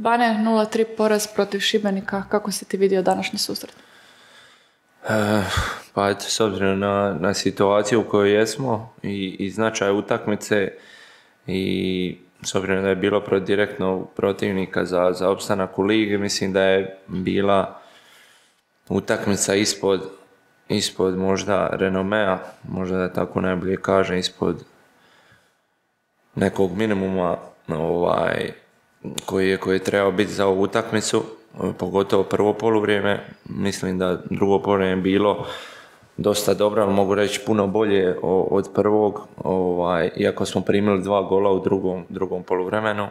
Bane, 0-3 poraz protiv Šibenika. Kako si ti vidio današnji susret? Pa eto, s obzirom na situaciju u kojoj jesmo i značaj utakmice i s obzirom da je bilo direktno protivnika za opstanak u ligi, mislim da je bila utakmica ispod možda renomea, možda da tako najbolje kažem, ispod nekog minimuma koji je trebao biti za ovu utakmicu, pogotovo prvo poluvrijeme. Mislim da drugo poluvrijeme bilo dosta dobro, ali mogu reći puno bolje od prvog, iako smo primili 2 gola u drugom poluvremenu.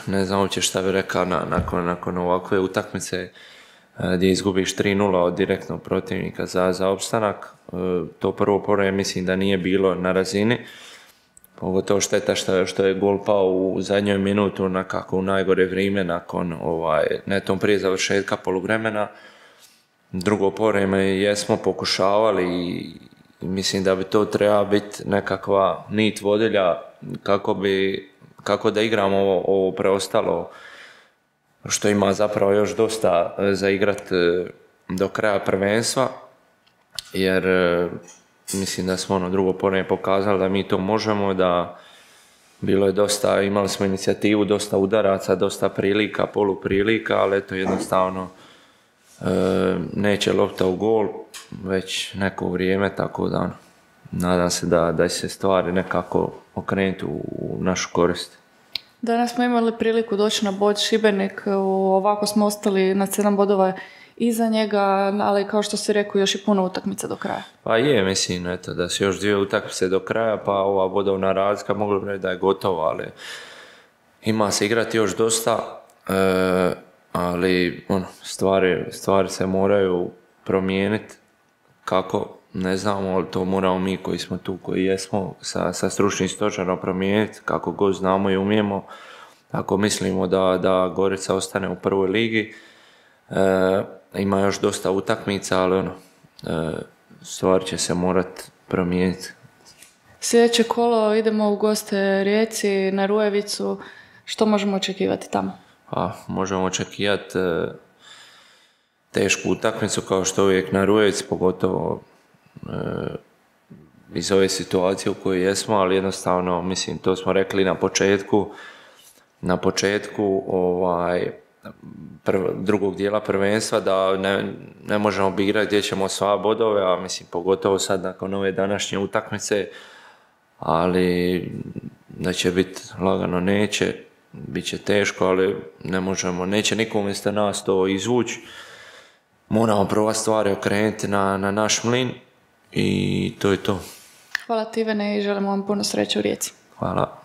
Ne znam uopće šta bi rekao nakon ovakve utakmice gdje izgubiš 3-0 od direktnog protivnika za opstanak. To prvo poluvreme mislim da nije bilo na razini. Pogotovo šteta što je gol pao u zadnjoj minutu nekako u najgore vrijeme nakon netom prije završetka poluvremena. Drugo poluvreme jesmo pokušavali i mislim da bi to trebala biti nekakva nit vodilja kako da igramo ovo preostalo što ima zapravo još dosta za igrat do kraja prvenstva, jer mislim da smo drugo poluvreme pokazali da mi to možemo, da bilo je dosta, imali smo inicijativu, dosta udaraca, dosta prilika, poluprilika, ali eto jednostavno neće lopta u gol već neko vrijeme, tako da nadam se da se stvari nekako okrenuti u našu korist. Danas smo imali priliku doći na bod Šibenik, ovako smo ostali na 7 bodova iza njega, ali kao što si rekao, još i puno utakmica do kraja. Pa je, mislim, eto, da su još 2 utakmice do kraja, pa ova bodovna razlika moglo bi reći da je gotova, ali ima se igrati još dosta, ali stvari se moraju promijeniti. Kako? Ne znamo, ali to moramo mi koji smo tu, koji jesmo, sa stručnim stožerom promijeniti, kako god znamo i umijemo. Ako mislimo da Gorica ostane u prvoj ligi, ima još dosta utakmica, ali stvar će se morati promijeniti. Sljedeće kolo idemo u goste Rijeci na Rujevicu. Što možemo očekivati tamo? Možemo očekivati tešku utakmicu kao što uvijek na Rujevici, pogotovo iz ove situacije u kojoj jesmo, ali jednostavno, mislim, to smo rekli na početku drugog dijela prvenstva, da ne možemo igrati gdje ćemo sva bodove, a mislim pogotovo sad nakon ove današnje utakmice, ali da će biti lagano neće, bit će teško, ali neće niko umjesto nas to izvući. Moramo prva stvari okrenuti na naš mlin i to je to. Hvala ti, Ivane, i želimo vam puno sreće u Rijeci. Hvala.